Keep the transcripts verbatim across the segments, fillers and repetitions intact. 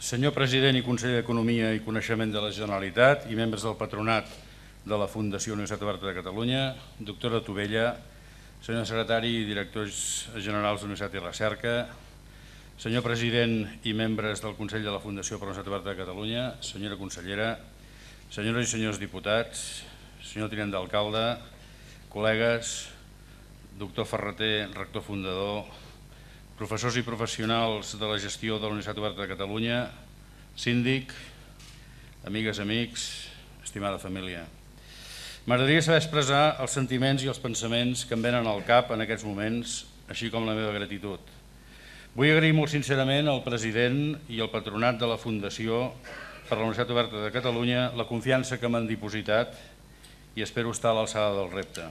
senyor president i conseller d'Economia i Coneixement de la Generalitat i membres del patronat de la Fundació Universitat Oberta de Catalunya, doctora Tubella, senyor secretari i directors generals d'Universitat i Recerca, senyor president i membres del Consell de la Fundació per la Universitat Oberta de Catalunya, senyora consellera, senyores i senyors diputats, senyor tinent d'alcalde, col·legues, doctor Ferreter, rector fundador, professors i professionals de la gestió de la Universitat Oberta de Catalunya, síndic, amigues, amics, estimada família. M'agradaria saber expressar els sentiments i els pensaments que em venen al cap en aquests moments, així com la meva gratitud. Vull agrair molt sincerament al president i al patronat de la Fundació per la Universitat Oberta de Catalunya la confiança que m'han dipositat i espero estar a l'alçada del repte.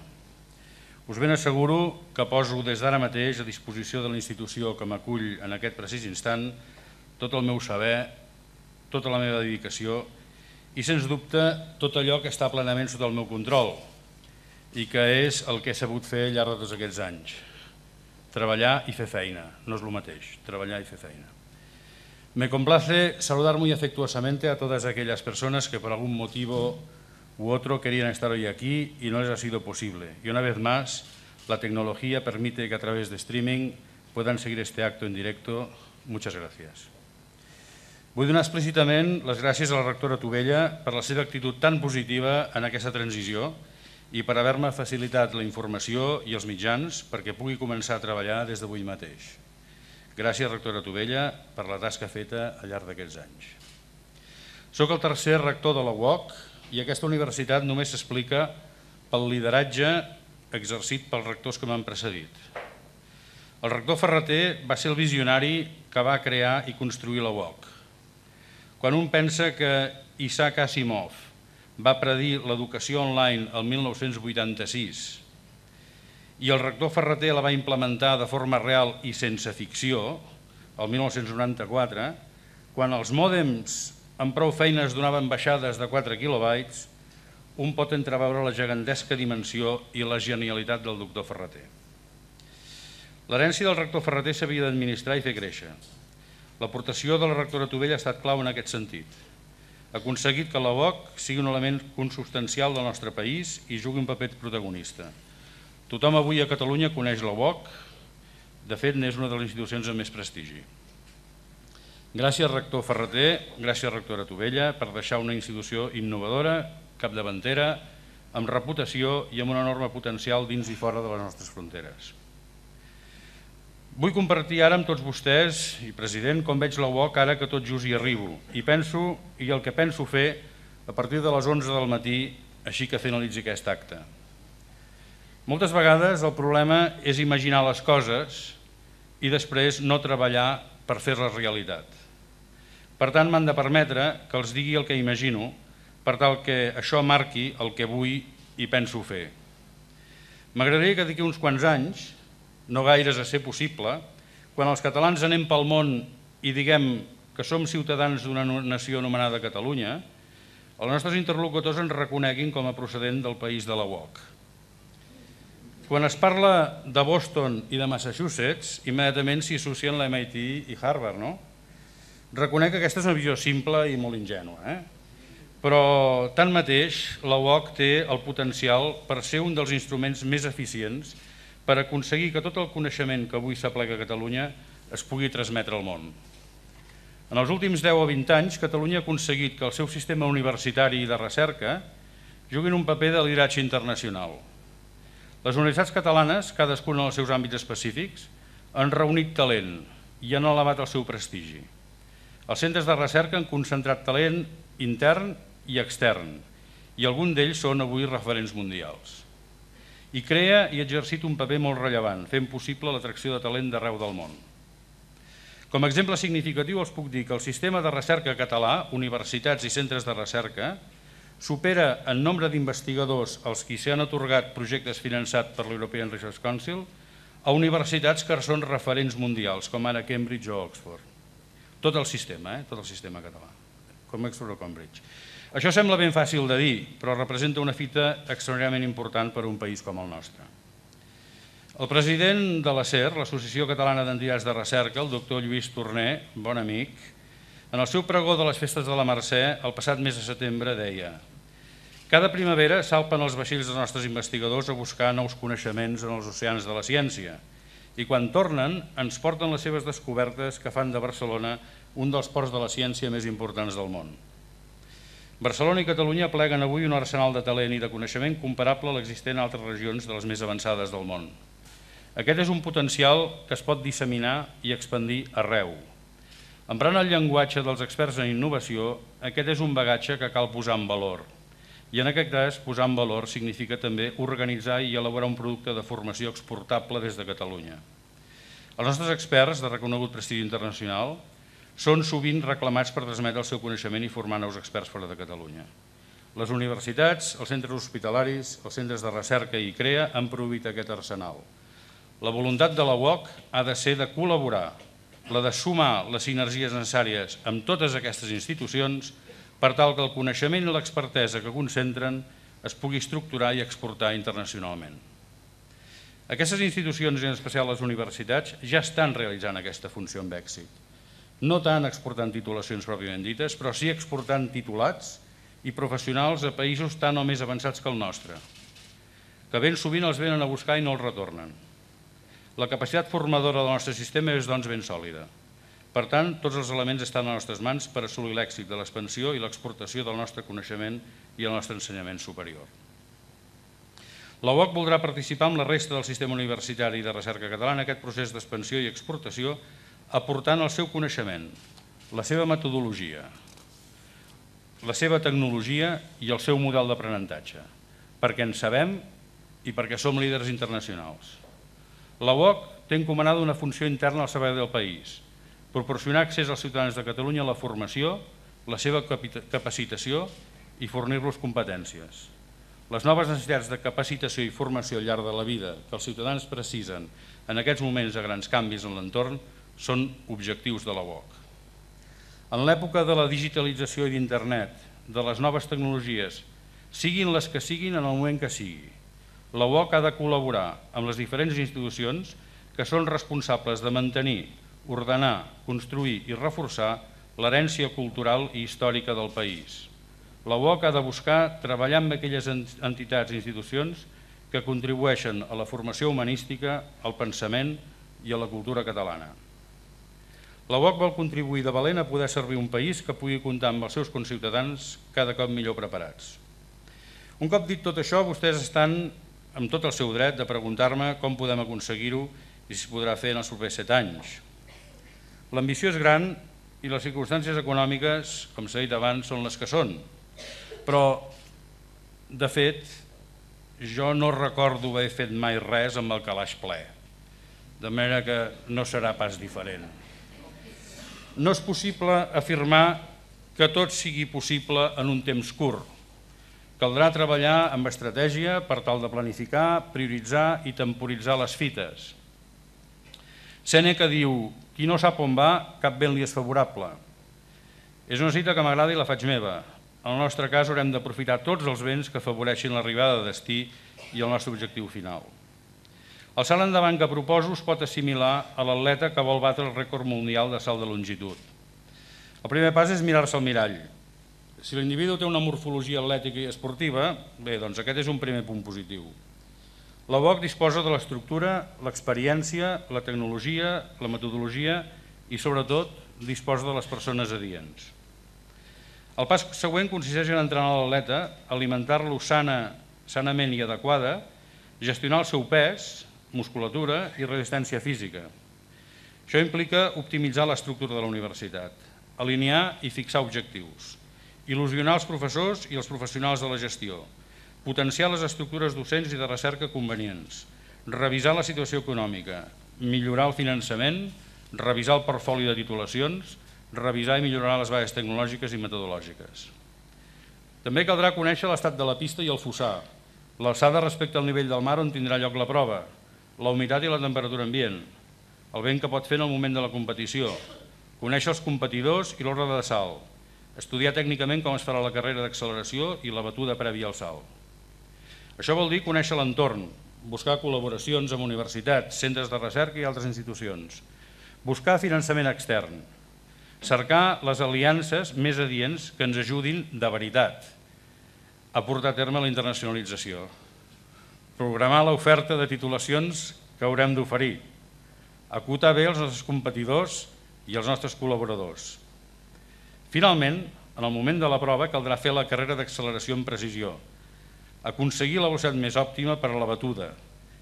Us ben asseguro que poso des d'ara mateix a disposició de la institució que m'acull en aquest precís instant tot el meu saber, tota la meva dedicació i, sens dubte, tot allò que està plenament sota el meu control i que és el que he sabut fer al llarg de tots aquests anys. Treballar y fer feina, no es lo mateix, treballar y fer feina. Me complace saludar muy afectuosamente a todas aquellas personas que por algún motivo u otro querían estar hoy aquí y no les ha sido posible. Y una vez más, la tecnología permite que a través de streaming puedan seguir este acto en directo. Muchas gracias. Vull donar explícitament les gràcies a la rectora Tubella per la seva actitud tan positiva en aquesta transició i per haver-me facilitat la informació i els mitjans perquè pugui començar a treballar des d'avui mateix. Gràcies, rectora Tubella, per la tasca feta al llarg d'aquests anys. Soc el tercer rector de la U O C i aquesta universitat només s'explica pel lideratge exercit pels rectors que m'han precedit. El rector Ferreter va ser el visionari que va crear i construir la U O C. Quan un pensa que Isaac Asimov va predir l'educació online el mil nou-cents vuitanta-sis i el rector Ferreter la va implementar de forma real i sense ficció el mil nou-cents noranta-quatre, quan els mòdems amb prou feines donaven baixades de quatre quilobytes, un pot entreveure la gegantesca dimensió i la genialitat del doctor Ferreter. L'herència del rector Ferreter s'havia d'administrar i fer créixer. L'aportació de la rectora Tubella ha estat clau en aquest sentit. Ha aconseguit que la U O C sigui un element consubstancial del nostre país i jugui un paper protagonista. Tothom avui a Catalunya coneix la U O C, de fet n'és una de les institucions amb més prestigi. Gràcies, rector Ferreter, gràcies, rectora Tubella, per deixar una institució innovadora, capdavantera, amb reputació i amb un enorme potencial dins i fora de les nostres fronteres. Vull compartir ara amb tots vostès, i president, com veig la U O C ara que tot just hi arribo, i penso, i el que penso fer a partir de les onze del matí, així que finalitzi aquest acte. Moltes vegades el problema és imaginar les coses i després no treballar per fer-les realitat. Per tant, m'han de permetre que els digui el que imagino per tal que això marqui el que vull i penso fer. M'agradaria que d'aquí uns quants anys, no gaires a ser possible, quan els catalans anem pel món i diguem que som ciutadans d'una nació anomenada Catalunya, els nostres interlocutors ens reconeguin com a procedent del país de la U O C. Quan es parla de Boston i de Massachusetts, immediatament s'hi associen la M I T i Harvard, no? Reconec que aquesta és una visió simple i molt ingènua, eh? Però tanmateix la U O C té el potencial per ser un dels instruments més eficients per aconseguir que tot el coneixement que avui s'aplega a Catalunya es pugui transmetre al món. En els últims deu o vint anys, Catalunya ha aconseguit que el seu sistema universitari i de recerca juguin un paper de lideratge internacional. Les universitats catalanes, cadascuna en els seus àmbits específics, han reunit talent i han elevat el seu prestigi. Els centres de recerca han concentrat talent intern i extern i alguns d'ells són avui referents mundials. I crea i ha exercit un paper molt rellevant, fent possible l'atracció de talent d'arreu del món. Com a exemple significatiu els puc dir que el sistema de recerca català, universitats i centres de recerca, supera en nombre d'investigadors als qui s'han atorgat projectes finançats per l'European Research Council a universitats que són referents mundials, com ara Cambridge o Oxford. Tot el sistema, eh? Tot el sistema català, com Oxford o Cambridge. Això sembla ben fàcil de dir, però representa una fita extraordinàriament important per a un país com el nostre. El president de l'A C E R, l'Associació Catalana d'Entitats de Recerca, el doctor Lluís Torner, bon amic, En el seu pregó de les festes de la Mercè, el passat mes de setembre, deia: «Cada primavera salpen els vaixells dels nostres investigadors a buscar nous coneixements en els oceans de la ciència i quan tornen ens porten les seves descobertes que fan de Barcelona un dels ports de la ciència més importants del món. Barcelona i Catalunya pleguen avui un arsenal de talent i de coneixement comparable a l'existent a altres regions de les més avançades del món. Aquest és un potencial que es pot disseminar i expandir arreu. Emprant el llenguatge dels experts en innovació, aquest és un bagatge que cal posar en valor. I en aquest cas, posar en valor significa també organitzar i elaborar un producte de formació exportable des de Catalunya. Els nostres experts, de reconegut prestigi internacional, són sovint reclamats per transmetre el seu coneixement i formar nous experts fora de Catalunya. Les universitats, els centres hospitalaris, els centres de recerca i I C R E A han proveït aquest arsenal. La voluntat de la U O C ha de ser de col·laborar, la de sumar les sinergies necessàries amb totes aquestes institucions per tal que el coneixement i l'expertesa que concentren es pugui estructurar i exportar internacionalment. Aquestes institucions, i en especial les universitats, ja estan realitzant aquesta funció amb èxit. No tant exportant titulacions pròpiament dites, però sí exportant titulats i professionals a països tan o més avançats que el nostre, que ben sovint els venen a buscar i no els retornen. La capacitat formadora del nostre sistema és, doncs, ben sòlida. Per tant, tots els elements estan a les nostres mans per assolir l'èxit de l'expansió i l'exportació del nostre coneixement i el nostre ensenyament superior. La U O C voldrà participar amb la resta del sistema universitari i de recerca català en aquest procés d'expansió i exportació, aportant el seu coneixement, la seva metodologia, la seva tecnologia i el seu model d'aprenentatge, perquè en sabem i perquè som líders internacionals. La U O C té encomanada una funció interna al servei del país, proporcionar accés als ciutadans de Catalunya a la formació, la seva capacitació i fornir-los competències. Les noves necessitats de capacitació i formació al llarg de la vida que els ciutadans precisen en aquests moments de grans canvis en l'entorn són objectius de la U O C. En l'època de la digitalització i d'internet, de les noves tecnologies, siguin les que siguin en el moment que sigui, la U O C ha de col·laborar amb les diferents institucions que són responsables de mantenir, ordenar, construir i reforçar l'herència cultural i històrica del país. La U O C ha de buscar treballar amb aquelles entitats i institucions que contribueixen a la formació humanística, al pensament i a la cultura catalana. La U O C vol contribuir de valent a poder servir un país que pugui comptar amb els seus conciutadans cada cop millor preparats. Un cop dit tot això, vostès estan amb tot el seu dret de preguntar-me com podem aconseguir-ho i si es podrà fer en els propers set anys. L'ambició és gran i les circumstàncies econòmiques, com s'ha dit abans, són les que són. Però, de fet, jo no recordo haver fet mai res amb el calaix ple, de manera que no serà pas diferent. No és possible afirmar que tot sigui possible en un temps curt. Caldrà treballar amb estratègia per tal de planificar, prioritzar i temporitzar les fites. Sèneca diu: qui no sap on va, cap vent li és favorable. És una cita que m'agrada i la faig meva. En el nostre cas haurem d'aprofitar tots els vents que afavoreixin l'arribada de destí i el nostre objectiu final. El salt endavant que proposo es pot assimilar a l'atleta que vol batre el rècord mundial de salt de longitud. El primer pas és mirar-se al mirall. Si l'individu té una morfologia atlètica i esportiva, bé, doncs aquest és un primer punt positiu. La U O C disposa de l'estructura, l'experiència, la tecnologia, la metodologia i, sobretot, disposa de les persones adients. El pas següent consisteix en entrenar l'atleta, alimentar-lo sanament i adequada, gestionar el seu pes, musculatura i resistència física. Això implica optimitzar l'estructura de la universitat, alinear i fixar objectius, il·lusionar els professors i els professionals de la gestió, potenciar les estructures docents i de recerca convenients, revisar la situació econòmica, millorar el finançament, revisar el portfoli de titulacions, revisar i millorar les bases tecnològiques i metodològiques. També caldrà conèixer l'estat de la pista i el fossar, l'alçada respecte al nivell del mar on tindrà lloc la prova, la humitat i la temperatura ambient, el vent que pot fer en el moment de la competició, conèixer els competidors i l'ordre de salt, estudiar tècnicament com es farà la carrera d'acceleració i la batuda prèvia al salt. Això vol dir conèixer l'entorn, buscar col·laboracions amb universitats, centres de recerca i altres institucions, buscar finançament extern, Cercar les aliances més adients que ens ajudin de veritat a portar a terme la internacionalització. Programar l'oferta de titulacions que haurem d'oferir. Acotar bé els nostres competidors i els nostres col·laboradors. Finalment, en el moment de la prova caldrà fer la carrera d'acceleració en precisió, aconseguir la velocitat més òptima per a la batuda,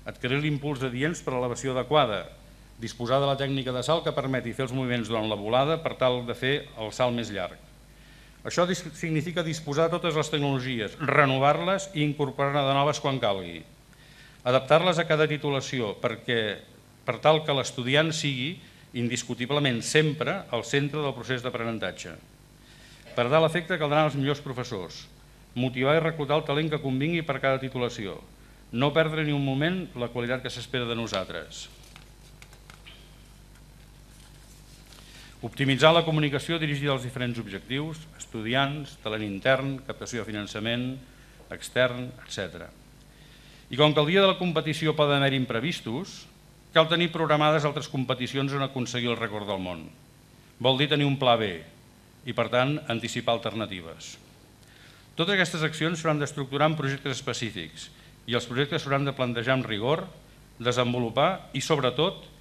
adquirir l'impuls adients per a l'elevació adequada, disposar de la tècnica de salt que permeti fer els moviments durant la volada per tal de fer el salt més llarg. Això significa disposar de totes les tecnologies, renovar-les i incorporar-ne de noves quan calgui. Adaptar-les a cada titulació perquè, per tal que l'estudiant sigui indiscutiblement sempre al centre del procés d'aprenentatge. Per dar l'efecte caldran els millors professors, motivar i reclutar el talent que convingui per cada titulació, no perdre ni un moment la qualitat que s'espera de nosaltres. Optimitzar la comunicació dirigida als diferents objectius, estudiants, talent intern, captació de finançament, extern, etcètera. I com que el dia de la competició poden haver imprevistos, cal tenir programades altres competicions on aconseguir el rècord del món. Vol dir tenir un pla B i, per tant, anticipar alternatives. Totes aquestes accions s'hauran d'estructurar en projectes específics i els projectes s'hauran de plantejar amb rigor, desenvolupar i, sobretot,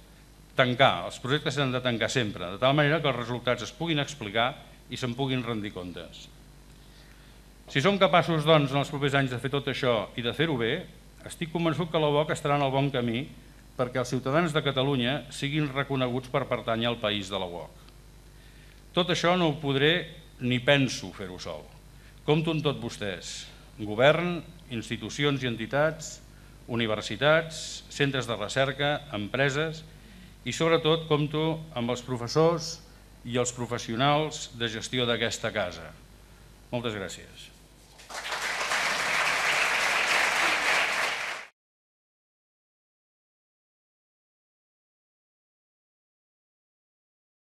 tancar. Els projectes s'han de tancar sempre, de tal manera que els resultats es puguin explicar i se'n puguin rendir comptes. Si som capaços, doncs, en els propers anys de fer tot això i de fer-ho bé, estic convençut que la U O C estarà en el bon camí perquè els ciutadans de Catalunya siguin reconeguts per pertànyer al país de la U O C. Tot això no ho podré ni penso fer-ho sol. Compto amb tots vostès, govern, institucions i entitats, universitats, centres de recerca, empreses i sobretot compto amb els professors i els professionals de gestió d'aquesta casa. Moltes gràcies.